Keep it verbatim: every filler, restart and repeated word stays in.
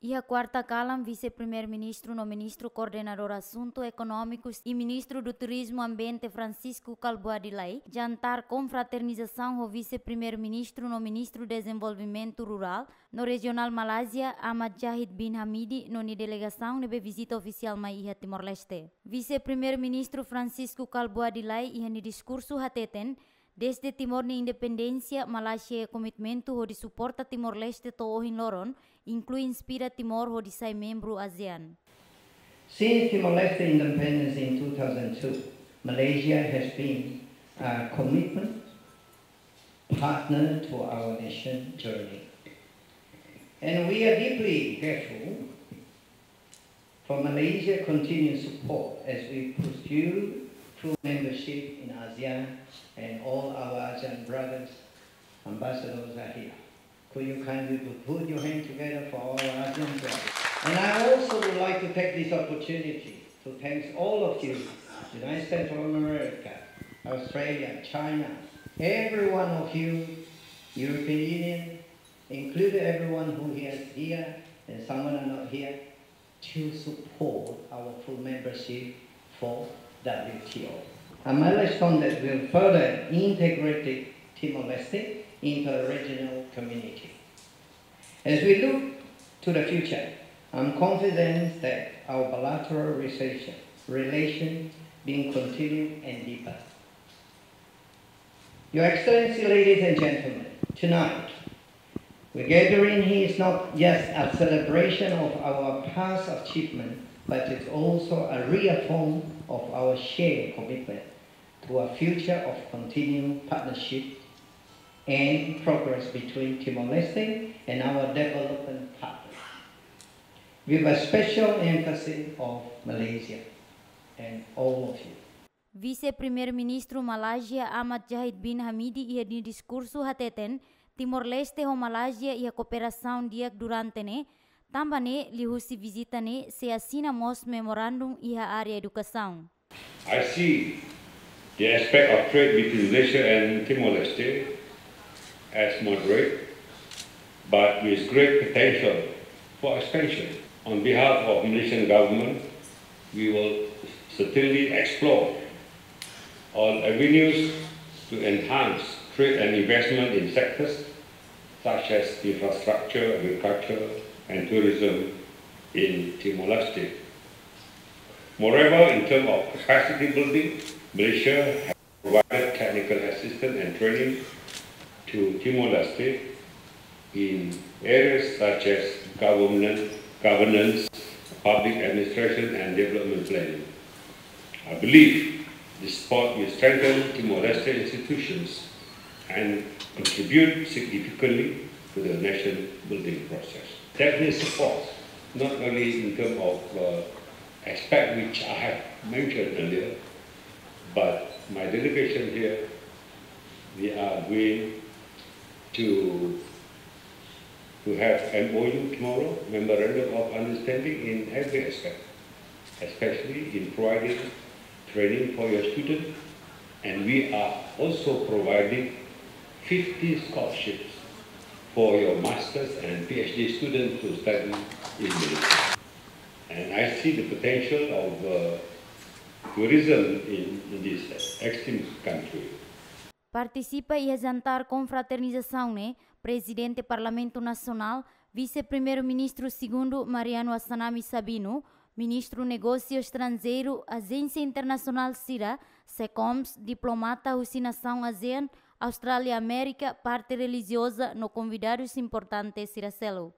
Iha kuarta kalan, Vise-Primeiru-Ministru no Ministru Koordenadór Asuntu Ekonómikus i Ministru do Turizmu Ambiente Francisco Kalbuadi Lay jantar konfraternizasaun ho Vise-Primeiru-Ministru no Ministru Dezenvolvimentu Rurál no Rejionál Malázia, Ahmad Zahid bin Hamidi, no nia delegasaun ne'ebé vizita ofisiál mai iha Timor-Leste. Vise-Primeiru-Ministru Francisco Kalbuadi Lay iha nia diskursu hateten, dezde Timor nia independénsia, Malázia iha komitmentu hodi suporta Timor-Leste to'o ohin loron, inklui inspira Timor hodi sai membru ASEAN. Since Timor-Leste independence in two thousand two, Malaysia has been a commitment partner to our nation journey. And we are deeply grateful for Malaysia continued support as we pursue full membership in ASEAN, and all our ASEAN brothers ambassadors are here. Could you kindly put, put your hand together for our ASEAN brothers? And I also would like to take this opportunity to thank all of you, United States of America, Australia, China, every one of you, European Union, include everyone who is here and someone are not here, to support our full membership for W T O, a milestone that will further integrate Timor-Leste into a regional community. As we look to the future, I'm confident that our bilateral relation, relation being continued and deeper. Your Excellency, ladies and gentlemen, tonight, the gathering here is not just a celebration of our past achievement, but it's also a reaffirm of our shared commitment to a future of continued partnership and progress between Timor-Leste and our development partners, with a special emphasis of Malaysia and all of you. Vise-Primeiru-Ministru Malázia Ahmad Zahid bin Hamidi iha nia diskursu hateten, Timor-Leste ho Malázia iha kooperasaun di'ak durante ne'e, tanba ne'e liuhusi vizita ne'e sei asina mós memorandum iha área edukasaun. I see the aspect of trade between Malaysia and Timor-Leste as moderate, but with great potential for expansion. On behalf of Malaysian government, we will certainly explore all avenues to enhance trade and investment in sectors such as infrastructure, agriculture, and tourism in Timor-Leste. Moreover, in terms of capacity building, Malaysia has provided technical assistance and training to Timor-Leste in areas such as government, governance, public administration, and development planning. I believe this support will strengthen Timor-Leste institutions and contribute significantly to the nation building process. That will support not only in terms of, uh, aspect which I have mentioned earlier, but my delegation here, we are going to, to have M O U tomorrow, Memorandum of Understanding, in every aspect, especially in providing training for your students. And we are also providing fifty scholarships for your masters and P H D students to study in Malaysia. And I see the potential of, uh, tourism in, in this extinct country. Partisipa iha jantar konfraternizasaun ne'e Prezidente Parlamentu Nasionál, Vise-Primeiru-Ministru Segundu Mariano Assanami Sabino, Ministru Negósiu Estranjeiru, Ajénsia Internasionál sira, SECOMS, diplomata husi nasaun ASEAN, Austrália, Amérika, parte relijioza no konvidadus importante sira seluk.